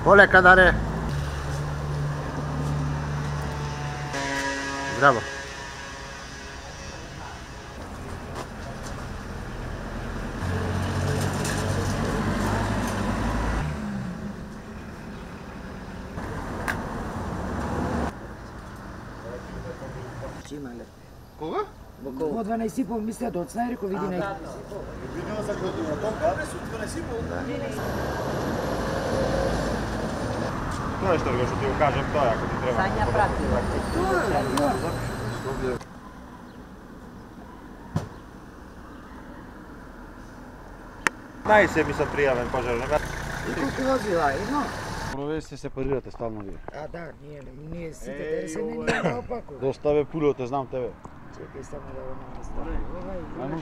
Полека, Даре! Здраво! Имале. Кога? Во 12:30 мисля да оцна, реко види на... Видимо за кога на том кадрес од 12:30. Тоа што што ти го кажам, тоа ако ти треба. Сања пратила. Нај се ми се пријавен пожарник. И колку возила, едно? Провести се парирате стално вие. А да, ние сите дерсе не ние наопаку. Доставе пулите, знам тебе. Чекај само да го наместам. Ајмо.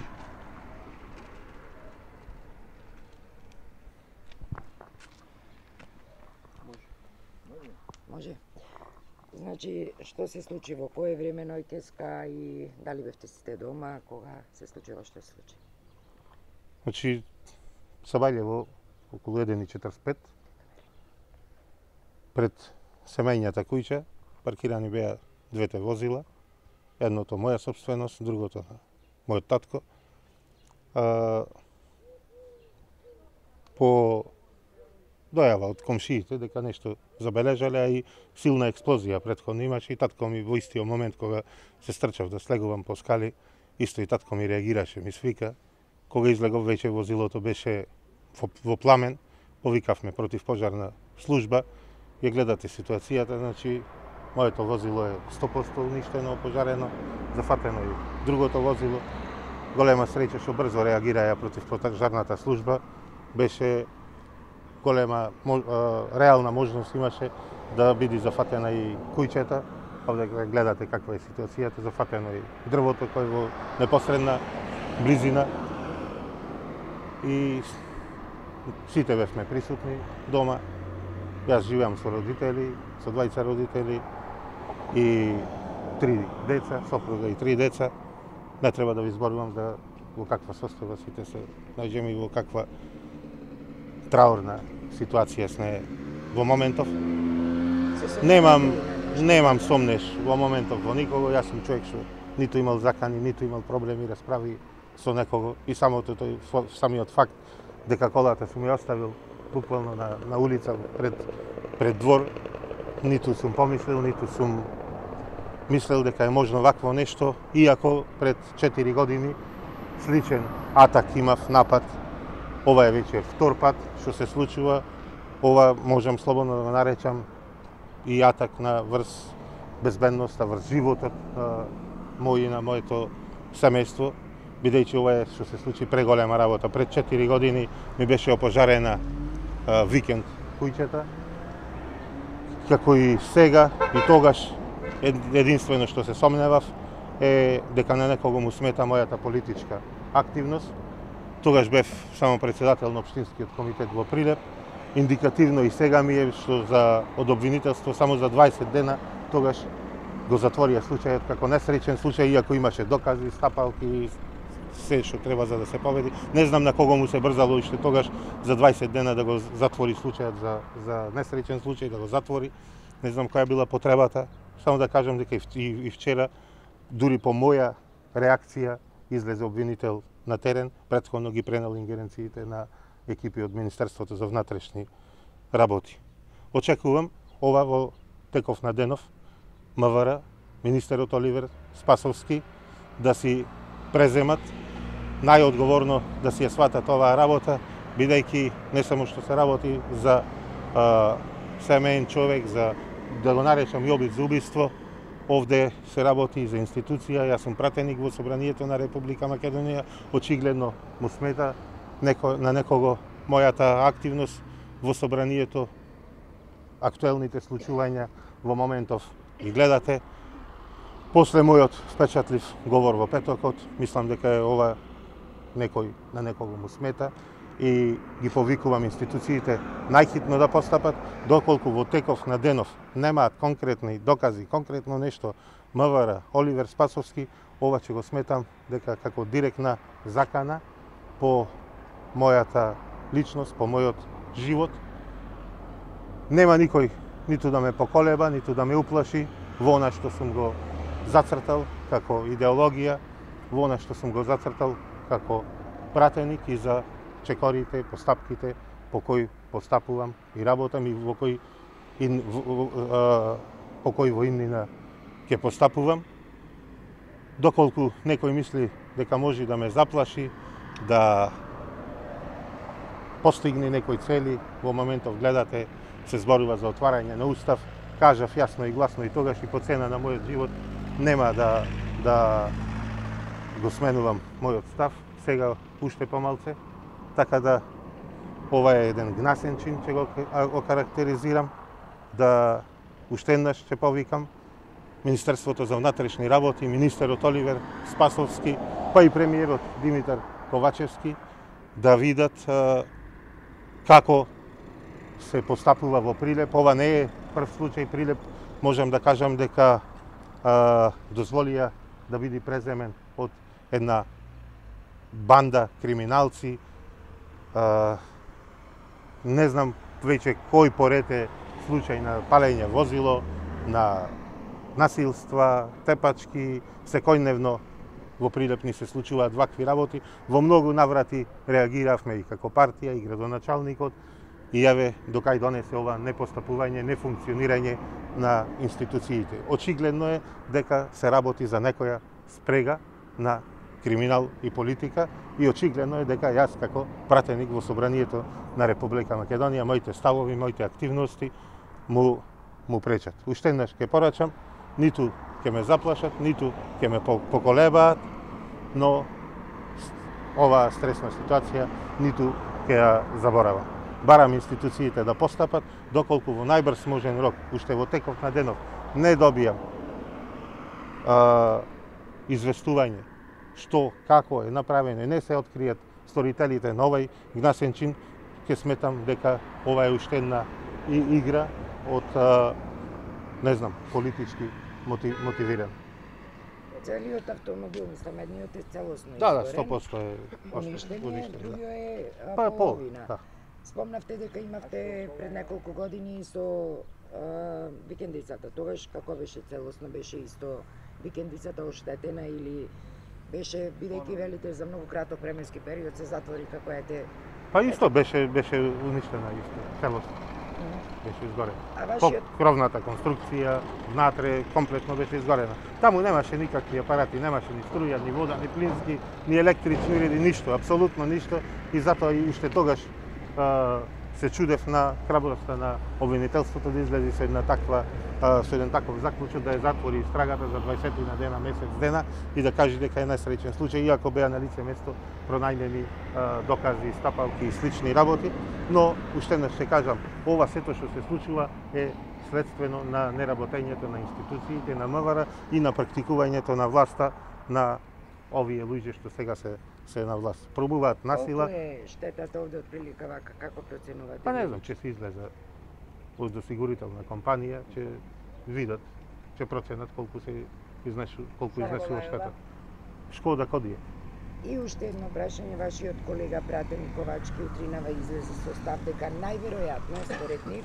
Може. Значи, што се случи во кое време ноќеска и дали бевте сите дома, кога се случило што се случи? Значи, Сабајлево, околу 1:45, пред семејната куќа, паркирани беа двете возила, едното моја собственост, другото на мојот татко. По дојава од комшиите дека нешто забележале, а и силна експлозија претходно имаше и татко ми во истиот момент кога се стрчав да слегувам по скали, исто и татко ми реагираше, ми свика. Кога излегов веќе возилото беше во пламен, повикавме против пожарна служба, ја гледате ситуацијата, значи моето возило е 100% уништено, опожарено, зафатено и другото возило. Голема среќа што брзо реагираја против пожарната служба, беше голема реална можност имаше да биде зафатена и куќата. Овде гледате каква е ситуацијата, зафатено и дрвото кој во непосредна близина. И сите бевме присутни дома. Јас живеам со родители, со двајца родители и 3 деца, сопруга и 3 деца. Не треба да ви зборувам да во каква состојба сите се најдеме и во каква траурна ситуација сме во моментов. Немам сомнеш во моментов во никого. Јас сум човек што ниту имал закани, ниту имал проблеми, расправи со некого и самиот факт дека колата сум ја оставил буквално на улица пред двор, ниту сум помислил, ниту сум мислел дека е можно вакво нешто, иако пред 4 години сличен атак имав, напад. Ова е веќе втор пат што се случува. Ова можам слободно да го наречам и атак на врз безбедноста, врз животот мој и на моето семејство, бидејќи ова е што се случи преголема работа. Пред 4 години ми беше опожарена викенд куќата, како и сега и тогаш единствено што се сомневав е дека на некого му смета мојата политичка активност. Тогаш бев само председател на Општинскиот комитет во Прилеп. Индикативно и сега ми е што од обвинителство само за 20 дена тогаш го затворија случајот како несреќен случај, иако имаше докази, стапалки и се што треба за да се победи. Не знам на кого му се брзало уште тогаш за 20 дена да го затвори случајот за несреќен случај, да го затвори. Не знам која била потребата. Само да кажам дека и вчера, дури по моја реакција, излезе обвинител на терен, претходно ги пренел ингеренциите на екипи од Министерството за внатрешни работи. Очекувам ова во теков на денов МВР, министерот Оливер Спасовски да си преземат најодговорно, да си ја сватат оваа работа, бидејќи не само што се работи за семеен човек, за да го наречам и обид за убиство, овде се работи и за институција. Јас сум пратеник во Собранието на Република Македонија, очигледно му смета на некого мојата активност во Собранието, актуелните случувања во моментов ги гледате. После мојот впечатлив говор во петокот, мислам дека е ова на некого му смета. и ги повикувам институциите најхитно да постапат, доколку во теков на денов немаат конкретни докази, конкретно нешто МВР, Оливер Спасовски, ова ќе го сметам дека како директна закана по мојата личност, по мојот живот. Нема никој ниту да ме поколеба, ниту да ме уплаши во она што сум го зацртал како идеологија, во она што сум го зацртал како пратеник и за чекорите, постапките по кои постапувам и работам и по кои во имнина ќе постапувам. Доколку некој мисли дека може да ме заплаши, да постигне некои цели, во моментов гледате се зборува за отварање на устав, кажав јасно и гласно и тогаш и по цена на мојот живот нема да го сменувам мојот став, сега уште помалце, така да ова е еден гнасен чин, ќе го окарактеризирам, да уште еднаш ќе повикам Министерството за внатрешни работи, министерот Оливер Спасовски, па и премиерот Димитар Ковачевски, да видат како се постапува во Прилеп. Ова не е прв случај. Прилеп можам да кажам дека дозволија да биде преземен од една банда криминалци. Не знам веќе кој поред е случај на палење возило, на насилства, тепачки, секојдневно во Прилеп ни се случуваат вакви работи. Во многу наврати реагиравме и како партија, и градоначалникот, и јаве докај донесе ова непостапување, нефункционирање на институциите. Очигледно е дека се работи за некоја спрега на криминал и политика и очигледно е дека јас како пратеник во Собранието на Република Македонија, моите ставови, моите активности му пречат. Уште еднаш ќе порачам, ниту ќе ме заплашат, ниту ќе ме поколебаат, но оваа стресна ситуација ниту ќе ја заборавам. Барам институциите да постапат, доколку во најбрз можен рок, уште во теков на денов, не добијам известување што, како е направено, не се откријат сторителите на овај гнасен чин, ќе сметам дека ова е уште една игра од, не знам, политички мотивиран. Целиот автомобил, мислам, едниот е целосно Да, изгорен. 100% е уништен, другиот е Па половина. Да. Спомнавте дека имавте пред неколку години со викендицата. Тогаш како беше целосно, беше исто викендицата оштетена или беше, бидејќи велите за многу краток временски период, се затвори како ете? Па исто беше уништена исто, целосно. Беше изгорена. А вашиот Кровната конструкција внатре комплетно беше изгорена. Таму немаше никакви апарати, немаше ни струја, ни вода, ни плински, ни електрични уреди, ништо, апсолутно ништо, и затоа и уште тогаш се чудев на храброста на обвинителството да излезе со еден таков заклучок да ја затвори истрагата за 20 на дена, месец дена и да каже дека е најсреќен случај, иако беа на лице место пронајдени докази, стапалки и слични работи, но уште еднаш ќе кажам, ова сето што се случува е следствено на неработењето на институциите, на МВР и на практикувањето на власта на овие луѓе што сега се на власт. Пробуваат насила. Колку е штетата овде од прилика вака, како проценувате? Па не знам, ќе се излезе од осигурителна компанија, ќе видат, ќе проценат колку изнесува штета. Шкода Кодија. И уште едно прашање, вашиот колега пратеник Ковачки утринава излезе со став дека најверојатно според нив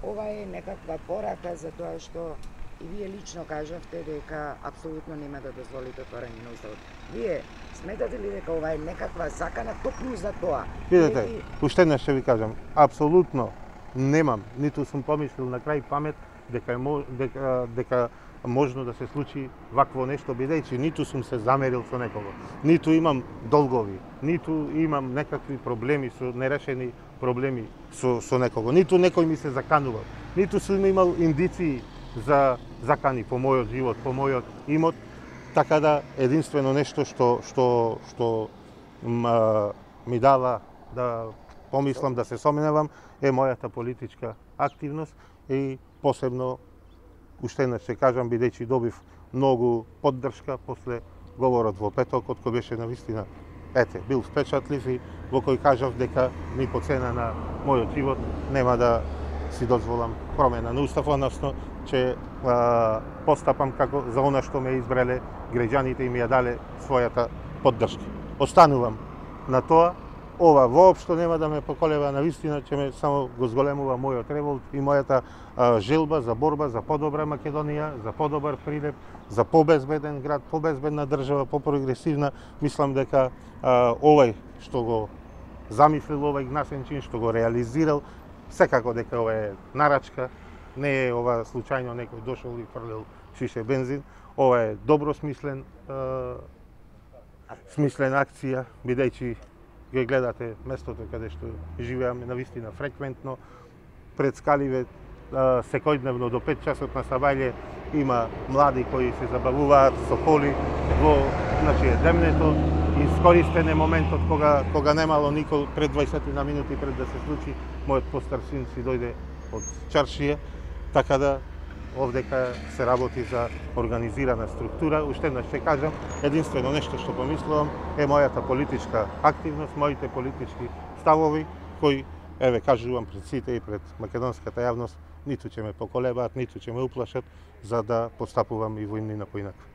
ова е некаква порака за тоа што и вие лично кажавте дека апсолутно нема да дозволите отварање на уставот. Вие сметате ли дека ова е некаква закана токму за тоа? Видете, уште еднаш ќе ви кажам, апсолутно немам, ниту сум помислил на крај памет дека можно да се случи вакво нешто, бидејќи ниту сум се замерил со некого, ниту имам долгови, ниту имам некакви проблеми со нерешени проблеми со некого, ниту некој ми се заканувал, ниту сум имал индиции за закани по мојот живот, по мојот имот, така да единствено нешто што ми дава да помислам, да се сомневам, е мојата политичка активност и посебно, уште еднаш ќе кажам, бидејќи добив многу поддршка после говорот во петокот, кој беше навистина бил впечатлив и во кој кажав дека ни по цена на мојот живот нема да си дозволам промена на устав, односно че постапам како за она што ме избрале граѓаните и ми ја дале својата поддршка. Останувам на тоа. Ова воопшто нема да ме поколева, на вистина ќе ме само го зголемува мојот револт и мојата желба за борба за подобра Македонија, за подобар прилеп, за побезбеден град, побезбедна држава, попрогресивна. Мислам дека овој што го замислил овој Гнасенчин, што го реализирал, секако дека ова е нарачка, не е ова случајно некој дошол и фрлил шише бензин. Ова е добро смислена акција, бидејќи ги гледате местото каде што живеаме навистина фреквентно, пред скаливе секојдневно до 5 часот на сабајле има млади кои се забавуваат со коли во демнето. Искористен е моментот кога немало никој пред 20 на минути пред да се случи, мојот постар син си дојде од чаршија, така да овдека се работи за организирана структура. Уште еднаш ќе кажам, единствено нешто што помислувам е мојата политичка активност, моите политички ставови, кои, кажувам пред сите и пред македонската јавност, ниту ќе ме поколебаат, ниту ќе ме уплашат, за да постапувам и во иднина поинаку.